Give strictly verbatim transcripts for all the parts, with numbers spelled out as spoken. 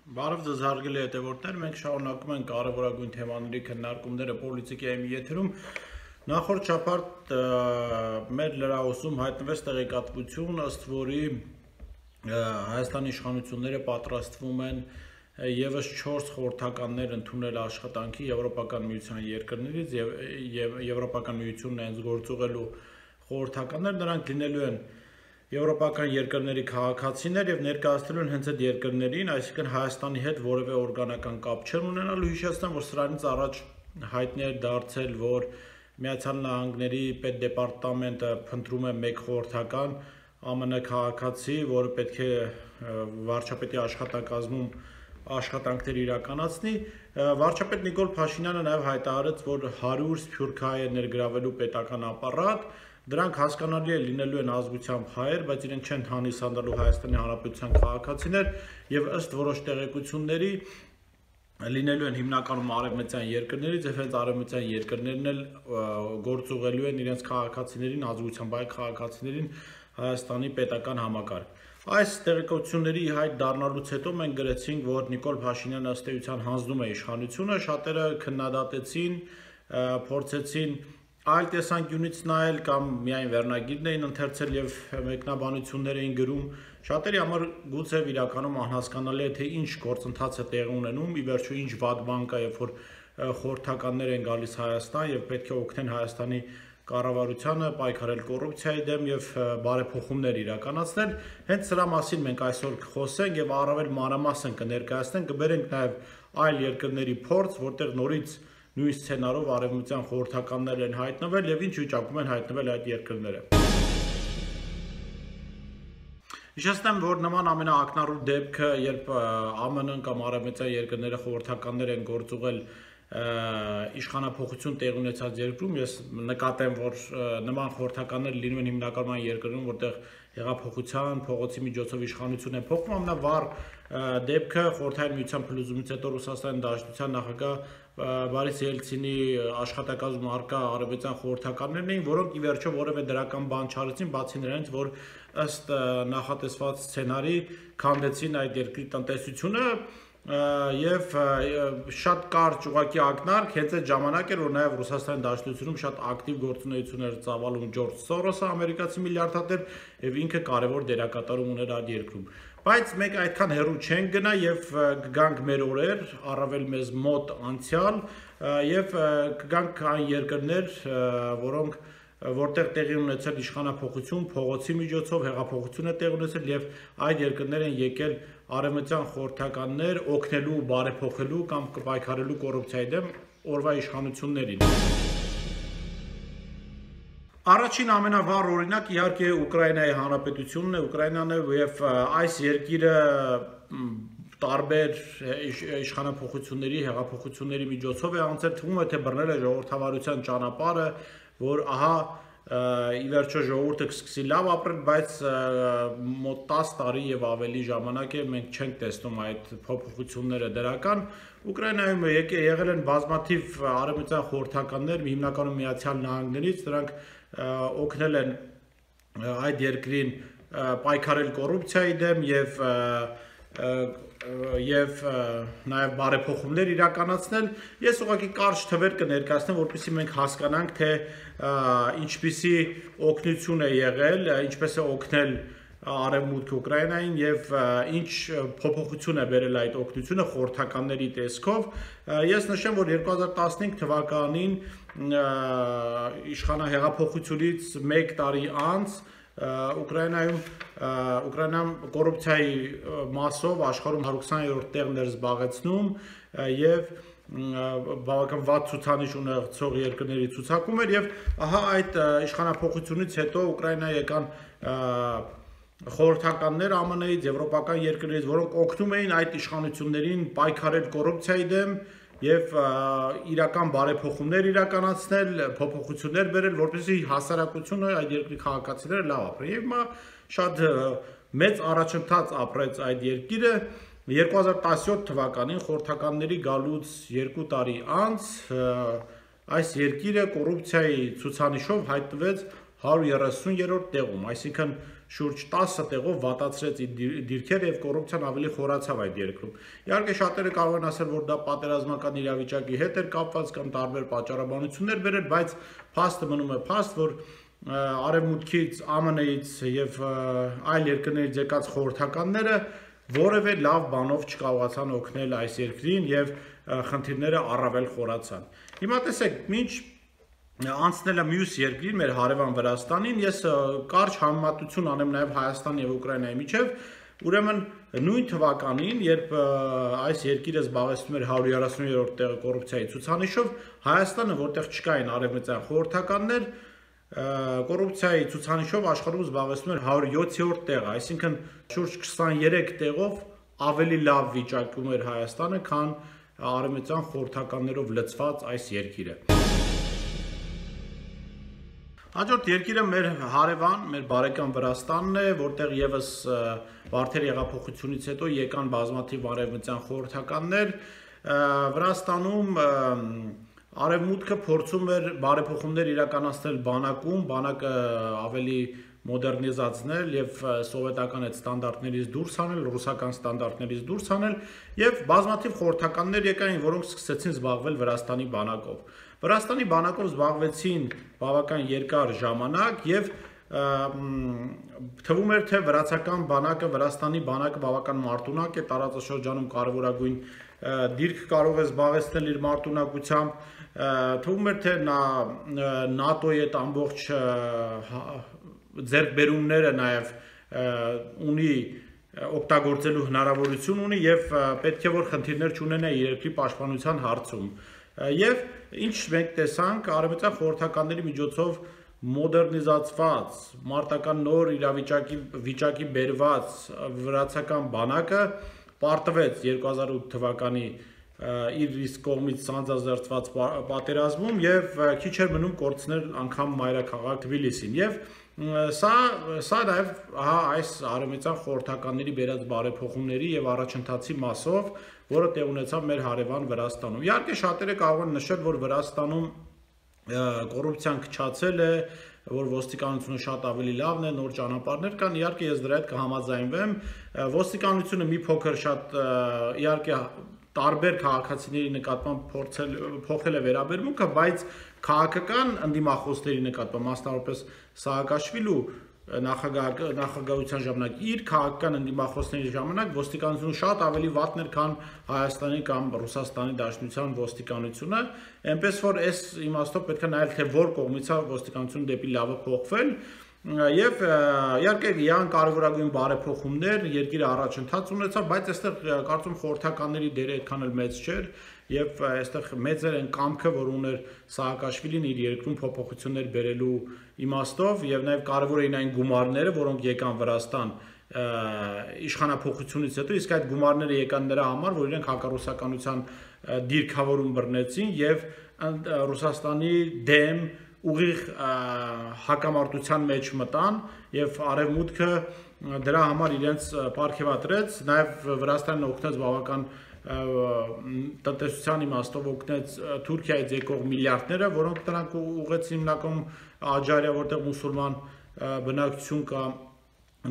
Բարև ձեզ հարգելի հետևորդներ, մենք շարունակում ենք կարևորագույն թեմաների քննարկումները Պոլիտիկայի մի եթերում։ Նախորդ շաբաթ մեր լրահոսում հայտնվեց տեղեկատվություն, ըստ որի Հայաստանի իշխանությունները պատրաստվում են ևս չորս խորհրդականներ ընդունել աշխատանքի Եվրոպական միության երկրներից եւ Եվրոպական միությունն հենց գործուղելու խորհրդականներ, նրանք լինելու են Եվրոպական երկրների քաղաքացիներ եւ ներկայացնելու են հենց այդ երկրներին, այսինքն Հայաստանի հետ որևէ օրգանական կապ չեն ունենալու։ Հիշեցնեմ, որ սրանից առաջ հայտնի է դարձել, որ Միացյալ Նահանգների պետդեպարտամենտը փնտրում է մեկ խորհրդական Ա Մ Ն քաղաքացի, որը պետք է վարչապետի աշխատակազմում աշխատանքներ իրականացնի։ Վարչապետ Նիկոլ Փաշինյանը նաեւ հայտարարեց, որ հարյուր սփյուռքահայ է ներգրավելու պետական ապարատ։ Դրանք հասկանալի է լինելու են ազգությամբ հայեր, բայց իրենք չեն հանդիսանալու Հայաստանի Հանրապետության քաղաքացիներ եւ ըստ որոշ տեղեկությունների լինելու են հիմնականում արևմտյան երկրներից եւ հենց արևմտյան երկրներն էլ գործուղելու են իրենց քաղաքացիներին, ազգությամբ հայ քաղաքացիներին Հայաստանի պետական համակարգ։ Այս տեղեկությունների հայտ դառնալուց հետո մենք գրեցինք, որ Նիկոլ Փաշինյանը ըստ էության հանձնում է իշխանությունը, շատերը քննադատեցին, փորձեցին այլ տեսանկյունից նայել կամ միայն վերնագիրն էին ընթերցել եւ մեկնաբանություններ էին գրում։ Շատերի համար գուցե իրականում անհասկանալի է, թե ինչ գործընթաց է տեղի ունենում, ի վերջո ինչ վատ բան կա, երբ որ խորհրդականներ են գալիս Հայաստան եւ պետք է օգնեն Հայաստանի կառավարությանը պայքարել կոռուպցիայի դեմ եւ բարեփոխումներ իրականացնել։ Հենց սրա մասին մենք այսօր կխոսենք եւ առավել մանրամասն կներկայացնենք, կբերենք նաեւ այլ երկրների փորձ, որտեղ նորից նույն սցենարով արևմտյան խորհրդականներ են հայտնվել եւ ինչ վիճակում են հայտնվել այդ երկրները։ Հիշեցնեմ, որ նման ամենաակնառու դեպքը, երբ Ա Մ Ն կամ արևմտյան երկրները խորհրդականներ են գործուղել իշխանափոխություն տեղ ունեցած երկրում, ես նկատեմ, որ նման խորհրդականներ լինում են հիմնականում այն երկրներում, որտեղ հեղափոխության, փողոցի միջոցով իշխանություն է փոխվում։ Ամենավառ դեպքը խորհրդային միության փլուզումից հետո Ռուսաստանի Դաշնության նախագահ Բարիս Ելցինի աշխատակազմում առկա արևմտյան խորհրդականներն էին, որոնք ի վերջո որևէ դրական բան չարեցին, բացի նրանից, որ ըստ նախատեսված սցենարի քանդեցին այդ երկրի տնտեսությունը եւ շատ կարճ ուղղակի ակնարկ հենց այդ ժամանակ էր, որ նաեւ Ռուսաստանի Դաշնությունում շատ ակտիվ գործունեություն էր ծավալում Ջորջ Սորոսը, ամերիկացի միլիարդատեր, եւ ինքը կարեւոր դերակատարում ուներ այդ երկրում։ Բայց մենք այդքան հեռու չենք գնա եւ կգանք մեր օրեր, առավել մեզ մոտ անցյալ եւ կգանք այն երկրներ, որոնք որտեղ տեղի ունեցել իշխանափոխություն, փողոցի միջոցով հեղափոխություն է տեղի ունեցել եւ այդ երկրներ են եկել արևմտյան խորհրդականներ օգնելու, բարեփոխելու կամ կպայքարելու կոռուպցիայի դեմ օրվա իշխանություններին։ Առաջին ամենավառ օրինակ իհարկե Ուկրաինայի Հանրապետությունն է, Ուկրաինան է եւ այս երկիրը տարբեր իշխանափոխությունների, հեղափոխությունների միջոցով է անցել, թվում է թե բռնել է ժողովրդավարության ճանապարհը, որ ահա ի վերջո ժողովուրդը կսկսի լավ ապրել, բայց մոտ տասը տարի եւ ավելի ժամանակ է մենք չենք տեսնում այդ փոփոխությունները դրական։ Ուկրաինայում եկել են բազմաթիվ արևմտյան խորհրդականներ, հիմնականում Միացյալ Նահանգներից, դրանք օգնել են այդ երկրին պայքարել կոռուպցիայի դեմ եւ եւ նաեւ բարեփոխումներ իրականացնել։ Ես ուղղակի կարճ թվեր կներկայացնեմ, որպեսզի մենք հասկանանք, թե ինչպիսի օգնություն է եղել, ինչպես է օգնել Արևմուտք Ուկրաինային եւ ինչ փոփոխություն է բերել այդ օգնությունը խորհրդականների տեսքով։ Ես նշեմ, որ երկու հազար տասնհինգ թվականին իշխանահեղափոխությունից մեկ տարի անց Ուկրաինայում Ուկրաինան կոռուպցիայի մասով աշխարհում հարյուրքսաներորդ տեղն էր զբաղեցնում եւ բավական վատ ցուցանիշ ունեցող երկրների ցուցակում էր եւ ահա այդ իշխանափոխությունից հետո Ուկրաինա եկան խորհրդականներ Ա Մ Ն-ից, եվրոպական երկրներից, որոնք օգնում էին այդ իշխանություններին պայքարել կոռուպցիայի դեմ եւ իրական բարեփոխումներ իրականացնել, փոփոխություններ բերել, որպեսզի հասարակությունը այդ երկրի քաղաքացիները լավ ապրեն։ Եվ հիմա շատ մեծ առաջընթաց ապրեց այդ երկիրը։ երկու հազար տասնյոթ թվականին խորհրդականների գալուց երկու տարի անց այս երկիրը կոռուպցիայի ցուցանիշով հայտնվեց հարյուր երեսուներորդ տեղում, այսինքն շուրջ տասը տեղով վատացրեց իր դիրքերը եւ կոռուպցիան ավելի խորացավ այդ երկրում։ Իհարկե շատերը կարող են ասել, որ դա պատերազմական իրավիճակի հետ էր կապված կամ տարբեր պատճառաբանություններ բերել, բայց փաստը մնում է փաստ, որ Արևմուտքից, Ա Մ Ն-ից եւ այլ երկրներից եկած խորհրդականները որևէ լավ բանով չկարողացան օգնել այս երկրին եւ խնդիրները առավել խորացան։ Հիմա տեսեք, ինչ անցնելը մյուս երկրին, մեր հարևան Վրաստանին, ես կարճ համեմատություն անեմ նաև Հայաստանի եւ Ուկրաինայի միջև, ուրեմն նույն թվականին, երբ այս երկիրը զբաղեցնում էր հարյուր երեսուններորդ տեղը կոռուպցիայի ցուցանիշով, Հայաստանը, որտեղ չկային արևմտյան խորհրդականներ, կոռուպցիայի ցուցանիշով աշխարհում զբաղեցնում էր հարյուր յոթերորդ տեղը, այսինքն շուրջ քսաներեք տեղով ավելի լավ վիճակում էր Հայաստանը, քան արևմտյան խորհրդականներով լցված այս երկիրը։ Հաջորդ երկիրը մեր հարևան, մեր բարեկամ Վրաստանն է, որտեղ եւս Վարդերի հեղափոխությունից հետո եկան բազմաթիվ արևմտյան խորհրդականներ։ Վրաստանում արևմուտքը փորձում էր բարեփոխումներ իրականացնել բանակում, բանակը ավելի մոդեռնիզացնել եւ սովետական այդ ստանդարտներից դուրս հանել, ռուսական ստանդարտներից դուրս հանել եւ բազմաթիվ խորհրդականներ եկային, որոնք սկսեցին զբաղվել Վրաստանի բանակով։ Վրաստանի բանակով զբաղվեցին բավական երկար ժամանակ եւ թվում էր թե վրացական բանակը, Վրաստանի բանակը բավական մարտունակ է, տարածաշրջանում կարևորագույն դիրք կարող է զբաղեցնել իր մարտունակությամբ, թվում էր թե նա ՆԱՏՕ-ի այդ ամբողջ ձեռքբերումները նաեւ ունի օգտագործելու հնարավորություն ունի եւ պետք է որ խնդիրներ չունենա երկրի պաշտպանության հարցում։ Եվ ինչ մենք տեսանք արևմտյան խորհրդականների միջոցով մոդեռնիզացված, մարտական նոր իրավիճակի վիճակի բերված վրացական բանակը պարտվեց երկու հազար ութ թվականի իր իսկ կողմից սանձազերծված պատերազմում եւ քիչ էր մնում կորցնել անգամ մայրաքաղաք Թբիլիսին եւ սա սա նաեւ հա այս արևմտյան խորհրդականների բերած բարեփոխումների եւ առաջընթացի մասով, որը տեղ ունեցավ մեր հարևան Վրաստանում։ Իհարկե շատերը կարող են նշել, որ Վրաստանում կոռուպցիան քչացել է, որ ոստիկանությունը շատ ավելի լավն է, նոր ճանապարհներ կան, իհարկե ես դրա հետ կհամաձայնվեմ, ոստիկանությունը մի փոքր շատ իհարկե տարբեր քաղաքացիների նկատմամբ փորձել փոխել է վերաբերմունքը, բայց քաղաքական ընդդիմախոսների նկատմամբ, մասնավորապես Սաակաշվիլու նախագահության ժամանակ իր քաղաքական ընդդիմախոսների ժամանակ ոստիկանությունը շատ ավելի վատն էր, քան Հայաստանի կամ Ռուսաստանի Դաշնության ոստիկանությունը, այնպես որ այս իմաստով պետք է նայել, թե որ կողմից է ոստիկանությունը դեպի լավը փոխվել եւ իհարկե յան կարևորագույն բարեփոխումներ երկիրը առաջընթաց ունեցավ, բայց այստեղ կարծում խորհրդականների դերը այդքան էլ մեծ չէր եւ այստեղ մեծ էր այն կամքը, որ ուներ Սաակաշվիլին իր երկրում փոփոխություններ բերելու իմաստով եւ նաեւ կարևոր էին այն գումարները, որոնք եկան Վրաստան իշխանափոխությունից հետո, իսկ այդ գումարները եկան նրա համար, որ իրենք հակառուսականության դիրքավորում բռնեցին եւ Ռուսաստանի դեմ ուղիղ հակամարտության մեջ մտան եւ արևմուտքը դրա համար իրենց պարգևատրեց, նաեւ Վրաստանն օգնեց բավական տնտեսության իմաստով օգնեց Թուրքիայից եկող միլիարդները, որոնք դրանք ուղղեցին հիմնականում Աջարիա, որտեղ մուսուլման բնակչություն կա,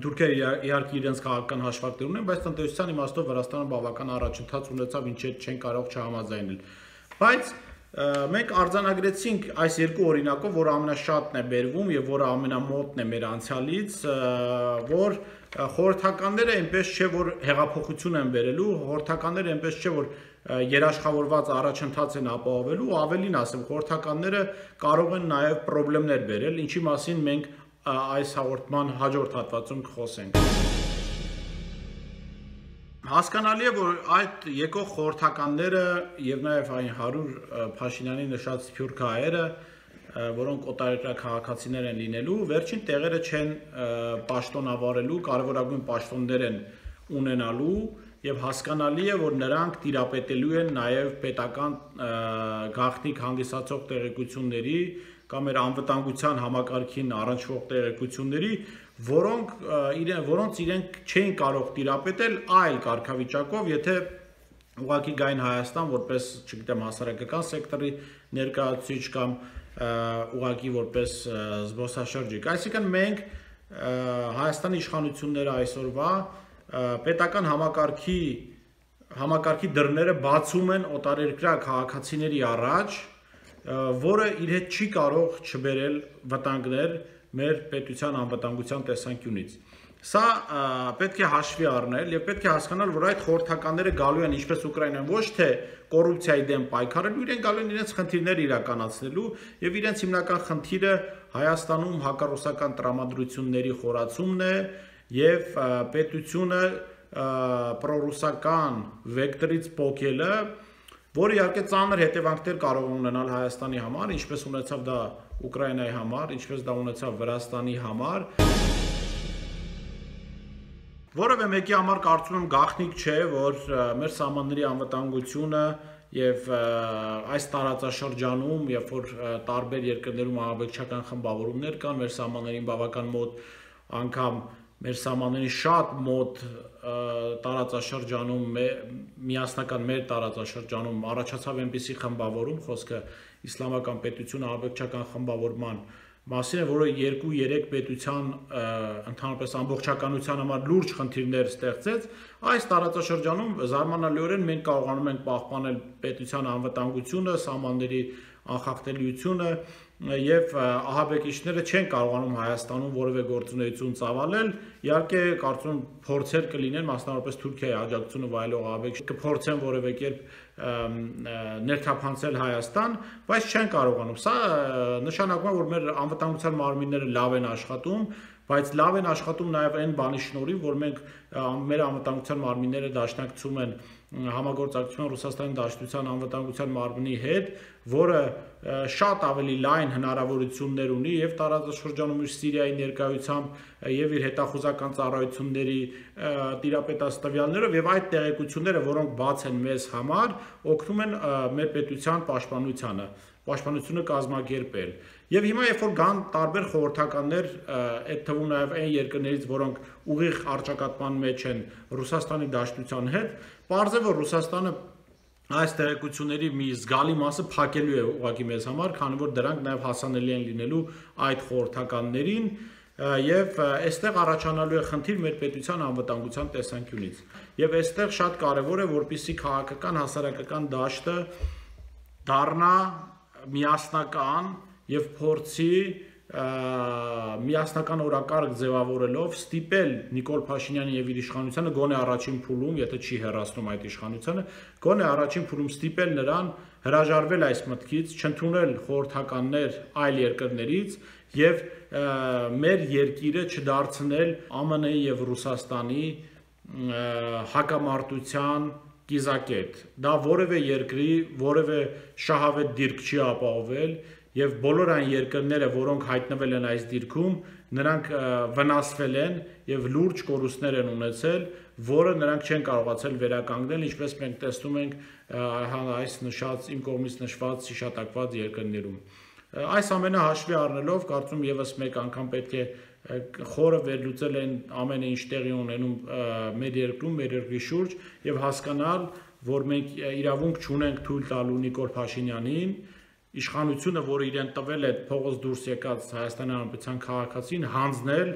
Թուրքիա իհարկե իրենց քաղաքական հաշվարկներ ունեն, բայց տնտեսության իմաստով Վրաստանը բավական առաջընթաց ունեցավ, ինչի հետ չեն կարող չհամաձայնել։ Բայց մենք արձանագրեցինք այս երկու օրինակով, որը ամենաշատն է բերվում եւ որը ամենամոտն է մեր անցյալից, որ խորհրդականները այնպես չէ, որ հեղափոխություն են բերելու, խորհրդականները այնպես չէ, որ երաշխավորված առաջընթաց են ապահովելու, ավելին ասեմ, խորհրդականները կարող են նաեւ խնդիրներ բերել, ինչի մասին մենք այս հաղորդման հաջորդ հատվածում կխոսենք։ Հասկանալի է, որ այդ եկող խորհրդականները եւ նաեւ այն հարյուր Փաշինյանի նշած սփյուռք հայերը, որոնք օտարերկրյա քաղաքացիներ են լինելու, վերջին տեղերը չեն պաշտոնավարելու, կարևորագույն պաշտոններ են ունենալու եւ հասկանալի է, որ նրանք տիրապետելու են նաեւ պետական գաղտնիք հանդիսացող տեղեկությունների կամ էր անվտանգության համակարգին առնչվող տեղեկությունների, որոնք իրեն որոնց իրենք չէին կարող տիրապետել այլ կարգավիճակով, եթե ուղղակի գային Հայաստան որպես, չգիտեմ, հասարակական սեկտորի ներկայացուցիչ կամ ուղղակի որպես զբոսաշրջիկ։ Այսինքն մենք Հայաստանի իշխանությունները այսօրվա պետական համակարգի համակարգի դռները բացում են օտարերկրյա քաղաքացիների առաջ, որը իր հետ չի կարող չբերել վտանգներ մեր պետության անվտանգության տեսանկյունից։ Սա պետք է հաշվի առնել եւ պետք է հասկանալ, որ այդ խորհրդականները գալու են ինչպես Ուկրաինան ոչ թե կոռուպցիայի դեմ պայքարելու, իրենք գալու են իրենց խնդիրները իրականացնելու եւ իրենց հիմնական խնդիրը Հայաստանում հակառուսական տրամադրությունների խորացումն է եւ պետությունը պրոռուսական վեկտորից փոխելը, որը իհարկե ծանր հետևանքներ կարող է ունենալ Հայաստանի համար, ինչպես ունեցավ դա Ուկրաինայի համար, ինչպես դա ունեցավ Վրաստանի համար։ Որևէ մեկի համար կարծում եմ գաղտնիք չէ, որ մեր սահմանների անվտանգությունը եւ այս տարածաշրջանում, երբ որ տարբեր երկրներում ահաբեկչական խմբավորումներ կան, մեր սահմաններին բավական մոտ անգամ մեր սահմանների շատ մոտ տարածաշրջանում, միասնական մեր տարածաշրջանում առաջացավ այնպիսի խմբավորում, խոսքը իսլամական պետություն ահաբեկչական խմբավորման մասին է, որը երկու երեք պետության ընդհանրապես ամբողջականության համար լուրջ խնդիրներ ստեղծեց, այս տարածաշրջանում զարմանալիորեն մենք կարողանում ենք պահպանել պետության անվտանգությունը, սահմանների անխախտելիությունը եւ ահաբեկիչները չեն կարողանում Հայաստանում որևէ գործունեություն ծավալել, իհարկե կարծում եմ փորձեր կլինեն, մասնավորապես Թուրքիայի աջակցությունը վայելող ահաբեկիչներ կփորձեն որևէ կերպ ներթափանցել Հայաստան, բայց չեն կարողանում։ Սա նշանակում է, որ մեր անվտանգության մարմինները լավ են աշխատում, բայց լավ են աշխատում նաև այն բանի շնորհիվ, որ մենք մեր անվտանգության մարմինները դաշնակցում են համագործակցության Ռուսաստանի Դաշնության անվտանգության մարմնի հետ, որը շատ ավելի լայն հնարավորություններ ունի եւ տարածաշրջանում իր Սիրիայի ներկայությամբ եւ իր հետախուզական ծառայությունների տիրապետած տվյալներով եւ այդ տեղեկությունները, որոնք բաց են մեզ համար, օգնում են մեր պետության պաշտպանությանը, պաշտպանությունը կազմակերպել։ Եվ հիմա երբ որ կան տարբեր խորհրդականներ, այդ թվում նաև այն երկրներից, որոնք ուղիղ առճակատման մեջ են Ռուսաստանի Դաշնության հետ, պարզ է, որ Ռուսաստանը այս տեղեկությունների մի զգալի մասը փակելու է ուղղակի մեզ համար, քանի որ դրանք նաև հասանելի են լինելու այդ խորհրդականներին, եւ այստեղ առաջանալու է խնդիր մեր պետության անվտանգության տեսանկյունից։ Եվ այստեղ շատ կարևոր է, որպեսզի քաղաքական հասարակական դաշտը դառնա միասնական եւ փորձի միասնական օրակարգ ձևավորելով ստիպել Նիկոլ Փաշինյանին եւ իր իշխանությանը գոնե առաջին փուլում, եթե չի հեռացնում այդ իշխանությանը, գոնե առաջին փուլում ստիպել նրան հրաժարվել այս մտքից, չընդունել խորհրդականներ այլ երկրներից եւ մեր երկիրը չդարձնել ԱՄՆ եւ Ռուսաստանի հակամարտության կիզակետ։ Դա որևէ երկրի, որևէ շահավետ դիրք չի ապահովել եւ բոլոր այն երկրները, որոնք հայտնվել են այս դիրքում, նրանք վնասվել են եւ լուրջ կորուստներ են ունեցել, որը նրանք չեն կարողացել վերականգնել, ինչպես մենք տեսնում ենք այս նշած իմ կողմից նշված հիշատակված երկրներում։ Այս ամենը հաշվի առնելով, կարծում եւս մեկ անգամ պետք է խորը վերլուծել են ամեն ինչ տեղի ունենում մեր երկրում, մեր երկրի շուրջ եւ հասկանալ, որ մենք իրավունք չունենք թույլ տալու Նիկոլ Փաշինյանին իշխանությունը, որը իրեն տվել է փողոց դուրս եկած Հայաստանի Հանրապետության քաղաքացին, հանձնել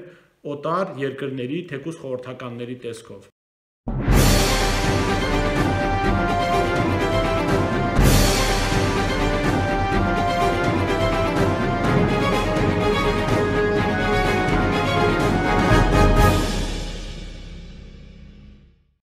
օտար երկրների, թեկուզ խորհրդականների տեսքով։